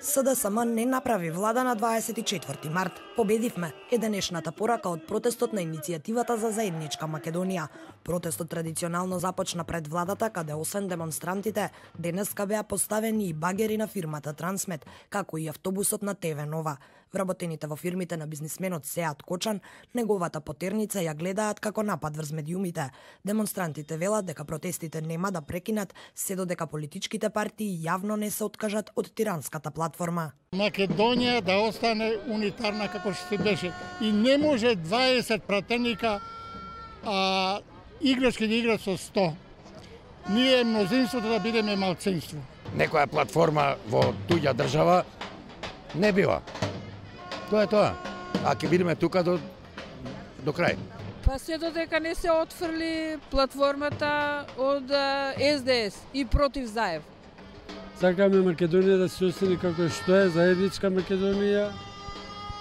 СДСМ не направи влада на 24 март. Победивме е денешната порака од протестот на иницијативата за заедничка Македонија. Протестот традиционално започна пред владата, каде освен демонстрантите, денеска беа поставени и багери на фирмата Трансмет, како и автобусот на ТВ Нова. Вработените во фирмите на бизнисменот Сеат Кочан, неговата потерница ја гледаат како напад врз медиумите. Демонстрантите велат дека протестите нема да прекинат се додека политичките партии јавно не се откажат од тиранската платформа. Македонија да остане унитарна како што беше и не може 20 пратеника играчки да играат со 100. Ние мнозинството да бидеме малцинство. Некоја платформа во туѓа држава не била. Тоа е тоа. А ќе бидеме тука до крај. Па се додека не се отфрли платформата од СДС и против Заев. Сакаме Македонија да се остане како што е, заедничка Македонија,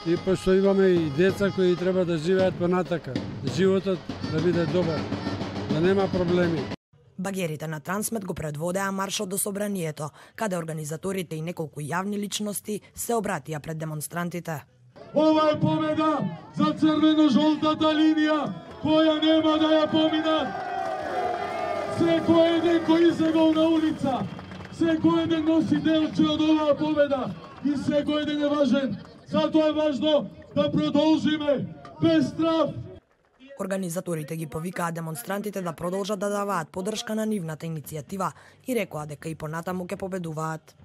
и пошто имаме и деца кои треба да живеат понатака. Животот да биде добар, да нема проблеми. Багерите на Трансмет го предводеа маршот до собранието, каде организаторите и неколку јавни личности се обратија пред демонстрантите. Ова е победа за црвено-жолтата линија, која нема да ја поминат. Секој еден кој излегол на улица, секој еден носи делче од оваа победа и секој еден е важен. Затоа е важно да продолжиме без страв. Организаторите ги повикаа демонстрантите да продолжат да даваат поддршка на нивната иницијатива и рекоа дека и понатаму ќе победуваат.